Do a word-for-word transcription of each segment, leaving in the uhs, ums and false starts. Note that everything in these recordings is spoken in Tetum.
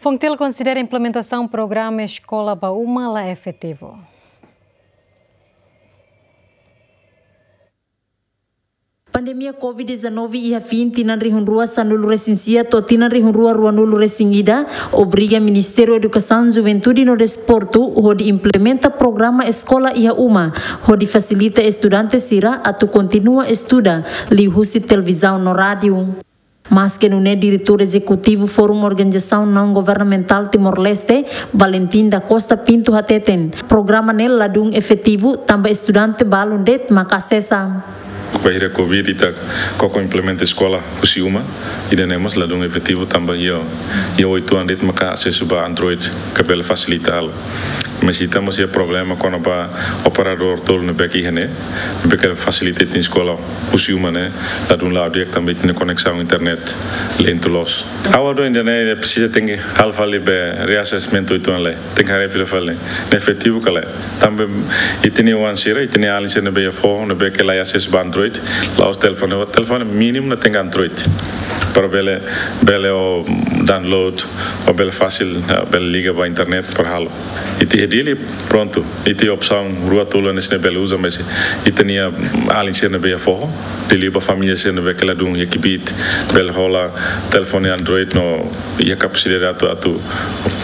Fontil konsidera implementasaun programa Eskola ba Uma la efetivu. Pandemia covid dezanove iha fin tinan rihun rua sanulu resin sia to'o tinan rihun rua ruanulu resin ida obriga Ministériu Edukasaun, Juventude no Desportu hodi implementa programa Eskola iha Uma hodi fasilita estudante sira atu kontinua estuda, liuhusi televizaun no rádiu. Maske nune'e, Diretór Ezekutivu Fórum Organizasaun Naun Governamentál Timor-Leste, Valentim da Costa Pinto, hateten programa ne'e ladún efetivu tanba estudante balun de'it maka asesa. Bainhira covid ita koko implementa eskola husi uma, ida-ne'e mós ladún efetivu tanba iha, iha oituan de'it maka asesu ba Android ka bele fasilita halo. Mas ita mós iha problema kona-ba operadór tolu ne'ebé ke iha ne'e, ne'ebé ke fasilita ita-nia eskola husi uma ne'e, ladún la'o di'ak tanba ita-nia koneksaun internet lentu loos. Ha'u hanoin ida-ne'e presiza tenke halo fali be reassessment oituan lai. Tenke haree fila fali ne'e efetivu ka lae. Tanba ita-nia oan sira, ita-nia alin sira ne'ebé iha foho, ne'ebé ke la iha asesu ba Android, la'ós telefone, telefone mínimu ne'e tenke Android. Para bele, bele ó download, ó bele fasil, eh, bele liga ba internet para halo. Ita iha Dili, prontu. Ita iha opsaun rua tolu hanesan ne'e bele uza, mas ita-nia alin sira ne'ebé iha foho, liuliu ba família sira ne'ebé ke ladún iha kbiit, bele hola telefone Android no iha kapasidade atu, atu,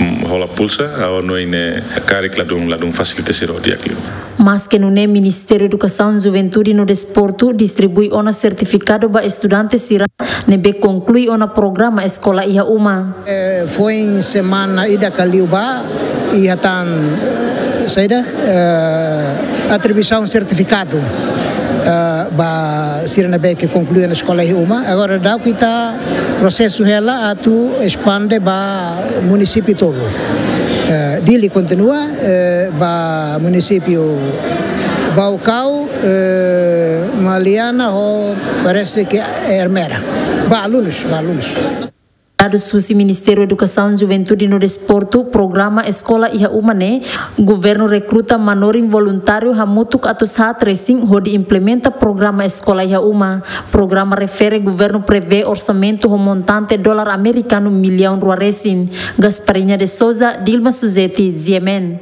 mm, hola pulsa, ha'u hanoin ne'e karik ladún, ladún fasilita sira ho di'ak liu. Maske nune'e, Ministériu Edukasaun, Juventude no Desportu distribui ona sertifikadu ba estudante sira ne'ebé konklui ona programa Eskola iha Uma. Eh, foin semana ida ka liubá, iha tan, eh, saida, eh, atribuisaun sertifikadu, eh, ba sira ne'ebé ke konklui ona eskola iha uma. Agora daudauk ita prosesu hela atu espande ba munisípiu tolu. Eh, Dili kontinua, eh, ba munisípiu Baucau, eh, Maliana ho parese ke Ermera. Ba alunus, ba alunus. Dadus husi Ministériu Edukasaun, Juventude no Desportu, programa Eskola iha Uma ne'e, governu rekruta manorin voluntáriu hamutuk atus haat resin hodi implementa programa Eskola iha Uma. Programa refere governu prevee orsamentu ho montante dolar amerikanu millaun rua resin. Gasparinha de Souza, Dilma Suzeti, G M N.